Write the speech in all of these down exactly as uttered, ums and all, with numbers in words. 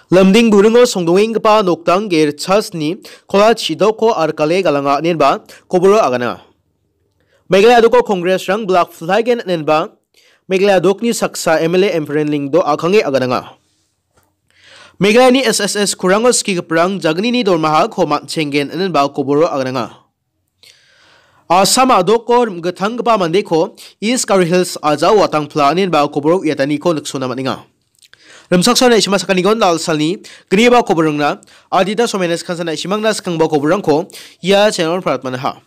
Lamding buringo songdongenggipa nokdang ge richasni kola chidoko arkale galanga inenba koboro agana. Meghalaya doko Congress-rang blak flaigen inenba Meghalaya dokni saksa M L A Empren Lyngdoh a·kange agananga. Meghalayani S S S kurango skigiparang jagnini dormahako man·chenggen inenba koboro agananga. Assam a·doko rim·gitanggipa mandeko East Garo Hills ajao watangpla inenba koboro uiataniko niksona man·enga. Rimchaksoa naisima sakanigon dalsalni gniba koborongna adita somenes kansa naisimangna skangba koborongko ia channel-on paratmanaha.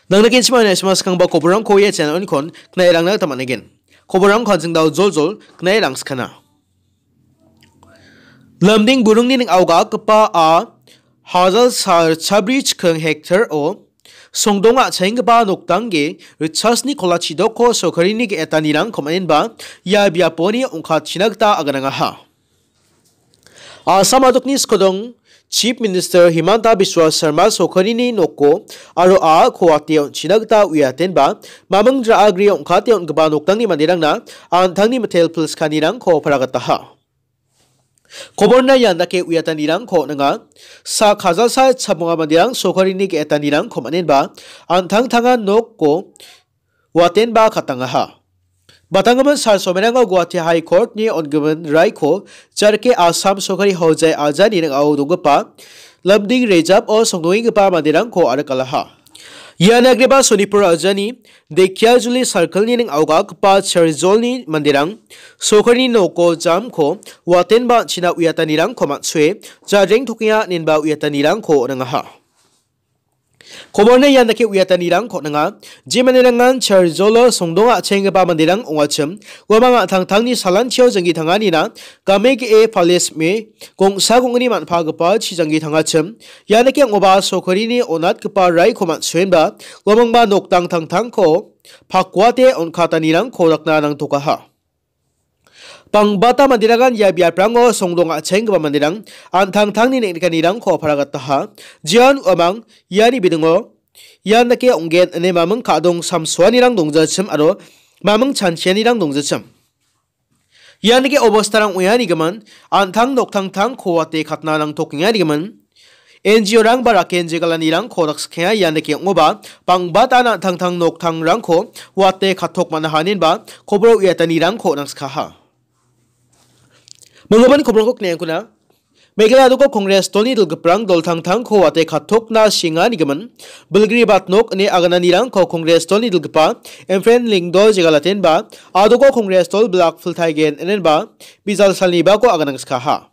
Nangna kenchima naisima skangba koborongko ia channel-onikon knairangna gita man·egen. Koborongko an·ching dao joljol knairangskana. Lamding buringni ning·ao gatgipa a hajal sal chabri chiking hektar-o songdong a·chenggipa nokdangge richasni kola chidoko sorkarini ge·etanirang komanenba ia biaponi ong·katchina gita aganangaha. Assam a·dokni skodong Chief Minister Himanta Biswa Sarma sorkarini noko aro a·ako wate on·china gita uiatenba maming ra·agri ong·kate on·gipa nokdangni manderangna an·tangni mitel pilskanirangko paragataha. Koborna ian dake uiatanirangko on·enga. Sak hajalsa chabonga manderang sorkarini ge·etanirangko man·enba an·tangtanga nokko watenba katangaha. Batanggimin sal somerango Guwahati High Court-ni on·gimin raiko jarke Assam sorkari hojai ajani ning·ao donggipa Lamding rejap-o songdongenggipa manderangko arikalaha. Ian agreba Sonipur ajani Dekiajuli circle-ni ning·ao gatgipa charijolni manderang sorkarini noko jamko watenba an·china uiatanirangko man·sue jadrengtokenga inenba uiatanirangko on·angaha. Koborna ian dake uiatanirangko on·enga. Je manderangan charijolo songdong a·chenggipa manderang ong·achim, uamang an·tangtangni salanchio janggi tanganina game ge·e palisme gongsa gongni man·pagipa chi janggi tangachim. Ian dake ong·oba sorkarini on·atgipa raiko man·suenba uamangba nokdang tangtangko pakuate on·katanirangko dakna nangtokaha. Bangbata manderangan ia biaprango songdong a·chenggipa manderang an·tangtangni neng·nikanirangko paragataha. Jian uamang iani bidingo ian dake ong·gen ine maming ka·dong samsoanirang dongjachim aro maming chanchianirang dongjachim. Ian dake obostarang ong·e anigimin an·tang noktangtangko wate katna nangtokenga anigimin. N G O-rang ba raken jegalanirangko dakskikenga ian dake ong·oba, bangbata an·tangtang noktangrangko wate katok man·aha inenba koboro uiatanirangko nangskaha. Manggipan koborongko knaengkuna. Meghalaya doko Congress dolni dilgiparang doltangtangko wate katokna shinganigimin, bilgri bat nok ine agananirangko Congress dolni dilgipa Empren Lyngdoh jegalatenba, a·doko Congress dol blak filtaigen inenba, bijal salnibako aganangskaha.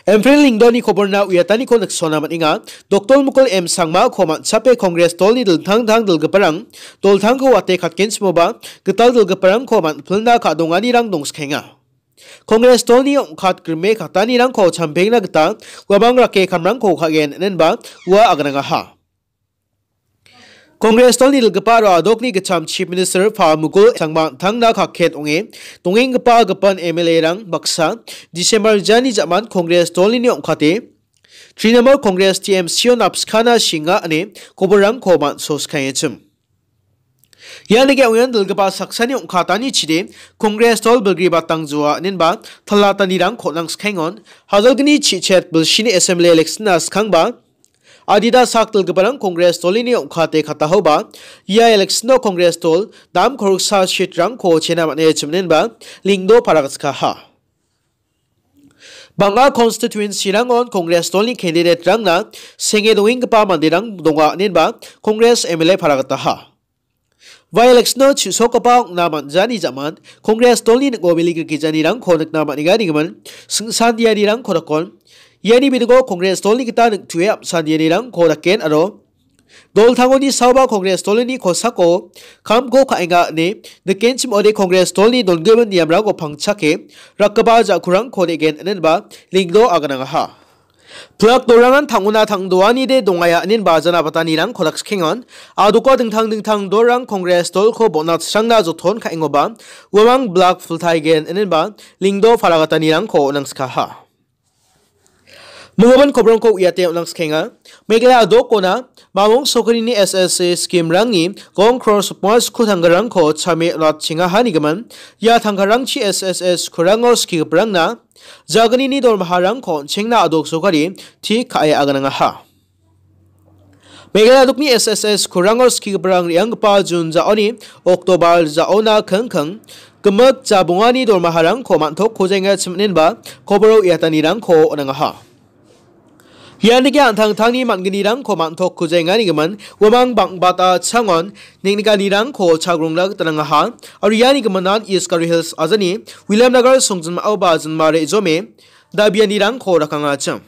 Empren Lyngdohni koborna uiataniko niksona man·enga. Doktor Mukul M Sangmako man·chape Congress dolni dingtang dingtang dilgiparang doltangko wate katgenchimoba gital dilgiparangko man·pilna ka·donganirang dongskaenga. Congress dolni ong·katgrime katanirangko champengna gita uamang rake kamrangko ka·gen inenba ua aganangaha. Congress dolni dilgipa aro a·dokni gitcham Chief Minister Pa Mukul Sangma an·tangna kaket ong·e dongenggipa gipin M L A-rang baksa December jani ja·man Congress dolni ong·kate Trinamool Congress T M C-o napskana shinga ine koborrangko man·soskaengachim. Ian dake ong·en dilgipa saksani ong·katani chide Congress dol bilgri batang joa inenba talatanirangko nangskaengon, hajalgni chichet bilsini assembly election-na skangba adita sak dilgiparang Congress dolini ong·kate katahoba, ia election-o Congress dol dam koroksa seat-rangko chena man·e chiminenba Lyngdoh paragatskaha. Bang·a constituency-rangon Congress dolni candidate-rangna senge dongenggipa manderang donga inenba Congress M L A paragataha. By-election-o chu·sokgipa ong·na man·jani ja·man Congress dolni ning·o bili grikijanirangko nikna man·enga ine gimin, singsandianirangko dakon. Iani bidingo Congress dolni gita ning·tue apsandianirangko daken aro doltangoni saoba Congress dolni kosako kamko ka·enga ine nikenchim ode Congress dolni dongimin niamrangko pangchake rakgipa ja·kurangko de·gen inenba Lyngdoh aganangaha. Pilak dolrangan tang·ona tang·doanide dongaia inen bajana batanirang kodak skikengon. A·doko dingtang dingtang dolrang Congress dolko bon·atsrangna joton ka·engoba uamang blak filtaigen inenba Lyngdoh paragatanirangko nangskaha. Minggimin kobrongko uiate on·angskenga. Meghalaya dokona mamung sokarini S S A skimrangni gong kror sotmua sku tangkarangko chame on·atchengahanigimin, ia tangkarangchi S S A skurango skigiparangna jagnini dormaharangko on·chengna a·dok sokari tik ka·e aganangaha. Meghalaya dokni S S A skurango skigiparang re·anggipa Jun ja·oni Oktobar ja·ona kingking gimik jabongani dormaharangko man·tok kojaenga chiminenba koboro uiatanirangko on·angaha. Ian dake an·tangtangni man·gnirangko man·tok kujaengani gimin, uamang bang·bata changon neng·nikanirangko chagrongna gita nangaha. Aro iani giminan East Garo Hills ajani Williamnagar songjinmao ba jinma re·jome dabianirangko rakangachim.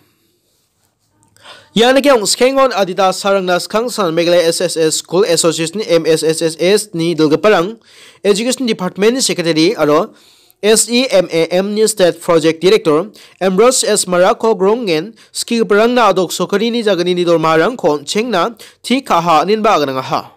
Ian dake ongskengon adita sarangna skangsan Meghalaya S S S School Association, M S S S S ni dilgiparang, Education Department Secretary aro S E M A M ni State Project Director Ambrose S Marako grongen skigiparangna a·dok sokarini jagnini dormaharangko on·chengna tik ka·aha inenba aganangaha.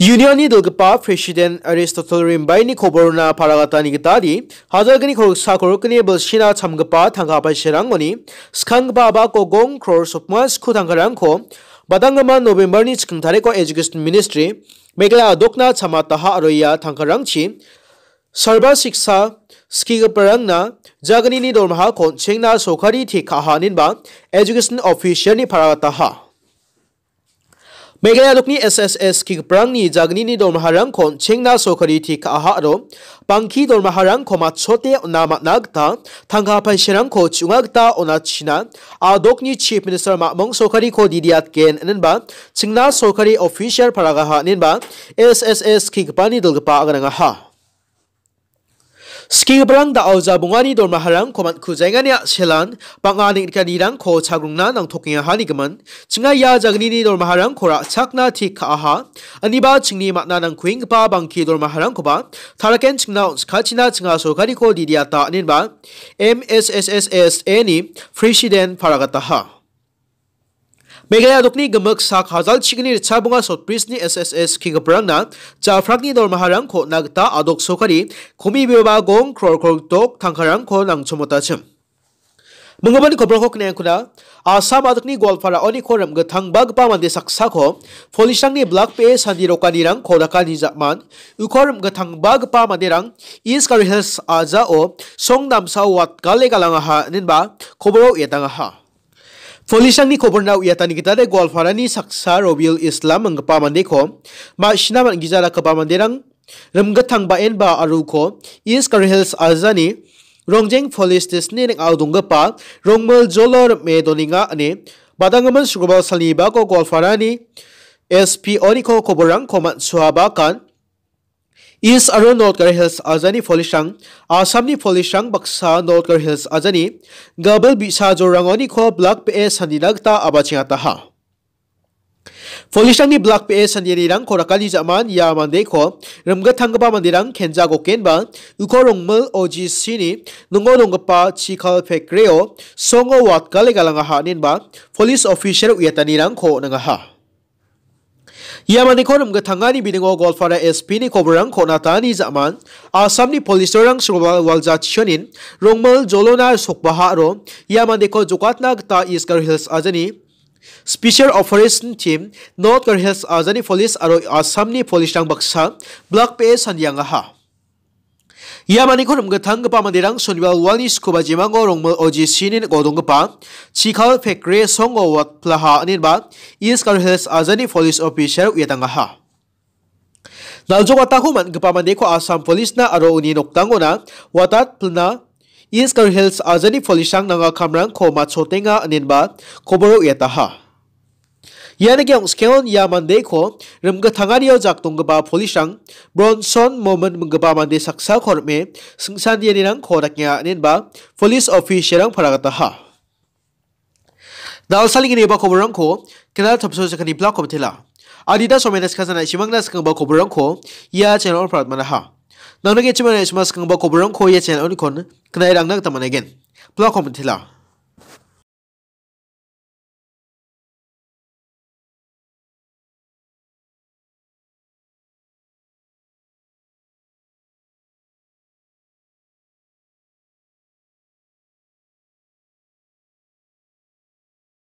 Unionni dilgipa President Aristotle Rimbaini koborna paragatani gitadi, hajalgni koroksa korokni bilsina chamgipa tangka paisarangoni skanggipa abako gong kror sotmua sku tangkarangko badanggimin November-ni chiking tariko Education Ministry Meghalaya dokna chamataha aro ia tangkarangchi Sarva Shiksha skigiparangna jagnini dormahako on·chengna sorkari tik ka·aha inenba Education Official-ni paragataha. Meghalaya dokni S S A skigiparangni jagnini dormaharangko on·chengna sorkari tik ka·aha aro bangki dormaharangko matchote on·na man·a gita tangka paisarangko chi·onga gita on·achina a·dokni Chief Minister mamung sorkariko didiatgen inenba chingna sorkari official paragaha inenba S S A skigipani dilgipa aganangaha. Skigiparang da·o jabongani dormaharangko man·kujaengani a·selan bang·a neng·nikanirangko chagrongna nangtokengaha nigimin, chinga ia jagnini dormaharangko ra·chakna tik ka·aha, aniba chingni man·a nangkuenggipa bangki dormaharangkoba taraken chingna on·sikachina chinga sorkariko didiata inenba M S S S S A ni President paragataha. Meghalaya dokni gimik sak hajal chigni ritchabonga sotbrisni S S A skigiparangna jafrakni dormaharangko on·na gita a·dok sorkari komibeba gong kror kror dok tangkarangko nangchomotachim. Minggimin kobrangko kniengkuna, Assam a·dokni Goalparaoniko rim·gitangbagipa mande saksako police-rangni blak be·e sandirokanirangko dakani ja·man, uko rim·gitangbagipa manderang East Garo Hills ajao song damsao watgale galangaha inenba koboro uiatangaha. Police-rangni koborna uiatani gitade Goalparani saksa Robiul Islam inggipa mandeko ma·sina man·gija dakgipa manderang rim·gitangbaenba aro uko East Garo Hills ajani Rongjeng Police Station-ni ning·ao donggipa Rongmil Jolo rim·e donenga ine badanggimin sugrobal salni bako Goalparani S P oniko koborrangko man·suabakan. East aro North Garo Hills ajani police-rang, Assamni police-rang baksa North Garo Hills ajani gabil bi·sa jorangoniko blak be·e sandina gita a·bachengataha. Police-rangni blak be·e sandianirangko rakani ja·man ia mandeko rim·gitanggipa manderang Kenja Gokenba uko Rongmil O G C-ni ningo donggipa chikal factory-o songo watgale galangaha inenba police official uiatanirangko on·angaha. Ia mandeko rim·gitangani biningo Goalpara S P-ni koborrangko on·atani ja·man, Assamni police-rang sugrobal waljachionin Rongmil Jolona sokbaha aro ia mandeko jokatna gita East Garo Hills ajani Special Operation Team, North Garo Hills ajani police aro Assamni police-rang baksa blak be·e sandiangaha. Ia maniko rim·gitanggipa manderang sonibal walni skuba jemango Rongmil O G C-ni ning·o donggipa chikal factory songo watplaha inenba East Garo Hills ajani police officer uiatangaha. Naljokatako man·gipa mandeko Assam Police-na aro uni noktangona watatplna East Garo Hills ajani police-rang nanga kamrangko matchotenga inenba koboro uiataha. Ian ike ongskeon ia mandeko rim·gitanganio jak donggipa police-rang Bronson Momin minggipa mande saksako rim·e singsandianirangko dakenga inenba police official-rang paragataha. Dalsaling ine ba koborangko kenal tapso sakani blak komitela. Adita somena skasana isimangna skangba koborangko ia channel-o pratmanaha. Nangna ge chimana isima skangba koborangko ia channel-onikon kenai rangna gita managen. Blak komitela.